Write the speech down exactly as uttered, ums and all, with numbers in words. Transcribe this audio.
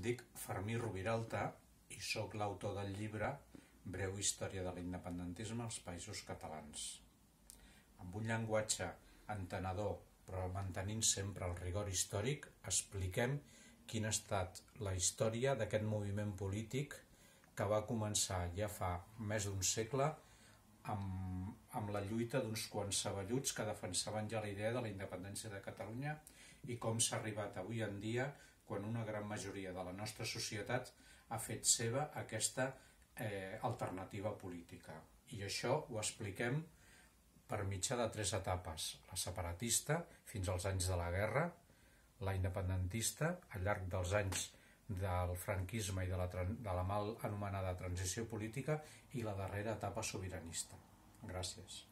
dic Fermí Rubiralta i sóc l'autor del llibre Breu història de l'independentisme als Països Catalans. Amb un llenguatge entenedor, però mantenint sempre el rigor històric, expliquem quina ha estat la història d'aquest moviment polític que va començar ja fa més d'un segle amb, amb la lluita d'uns quants saballuts que defensaven ja la idea de la independència de Catalunya i com s'ha arribat avui en dia quan una gran majoria de la nostra societat ha fet seva aquesta eh, alternativa política. I això ho expliquem per mitjà de tres etapes: la separatista, fins als anys de la guerra; la independentista, al llarg dels anys del franquisme i de la, de la mal anomenada transició política; i la darrera etapa sobiranista. Gràcies.